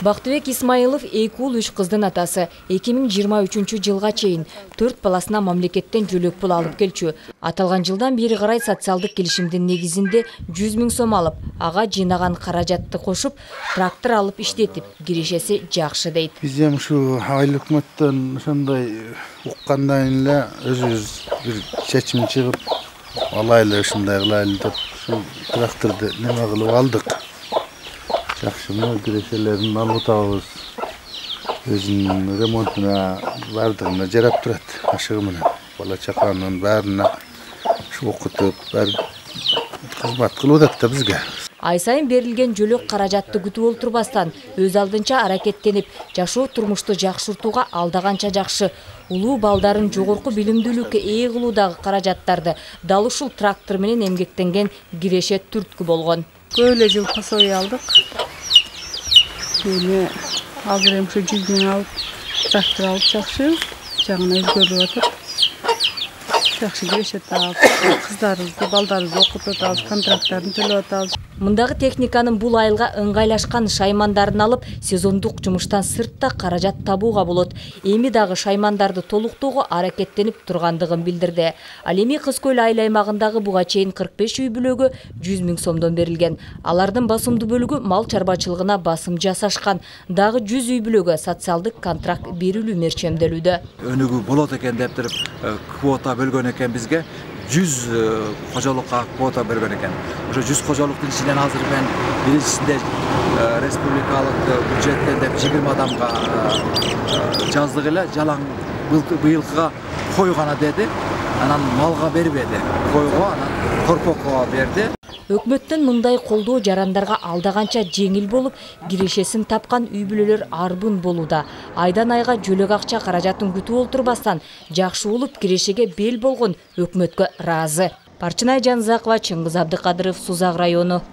Бактыбек Исмаилов 2 уул 3 кыздын атасы. 2023 жылга чейин 4 баласына мамлекеттен жөлөк пул алып келчү. Аталган жылдан бери карай социалдык келишимдин негизинде 100 000 сом алып, ага жыйнаган каражатты кошуп, трактор алып иштетип, кирешеси жакшы дейт. Биз эми ушу айыл өкмөттөн ошондой уккандан эле өзүбүз бир чечим чыгып, алайлы ушундай кылайлы деп ушу тракторду неме кылып алдык. Жакшымы кирешелерин алып атабыз. Өзүнүн ремонтуна бардыгына жарап турат. Ашыгы менен бала чаканын баарына окутуп, баары кызмат кылып атат да бизге. Ай сайын берилген жөлөк каражатты күтүп олтурбастан өз алдынча аракеттенип, жашоо турмушту жакшыртууга алдаганча жакшы. Улуу балдарын жогорку билимдүүлүккө ээ кылуудагы каражаттарды дал ушул трактор менен эмгектенген киреше түрткү болгон. Көп эле жыл пособие алдык. Эми азыр эми ушу 100 000 алып, трактор алып жакшы, жагына өзгөрүп атат. Жакшы киреше таап, кыздарыбызды, балдарыбызды окутуп атабыз, контракттарын төлөп атабыз. Мындагы техниканын бул айылга ыңгайлашкан шаймандарын алып, сезондук жумуштан сыртта каражат табууга болот. Эми дагы шаймандарды толуктоого аракеттенип тургандыгын билдирди. Ал эми Кыз Көл айыл аймагындагы буга чейин 45 үй бүлөгө 100 000 сомдон берилген. Алардын басымдуу бөлүгү мал чарбачылыгына басым жасашкан. Дагы 100 үй бүлөгө социалдык контракт берилүү мерчемделүүдө. Өнүгүү болот экен деп туруп квота бөлгөн экен бизге. 100 кожолукка квота берген экен. Ошо 100 кожолуктун ичинен азыр мен биринчисинде республикалык бюджеттен деп 20 адамга жаздык эле, жалаң быйылкыга кой гана деди. Анан малга бербеди. Койго анан корпокко берди. Өкмөттөн мындай колдоо жарандарга алдаганча жеңил болуп, кирешесин тапкан үй бүлөлөр арбын болууда. Айдан айга жөлөк акча каражатын күтүп олтурбастан, жакшы болуп кирешеге бел болгон өкмөткө ыраазы. Парчынай Жанзакова, Чыңгыз Абдыкадыров, Сузак району.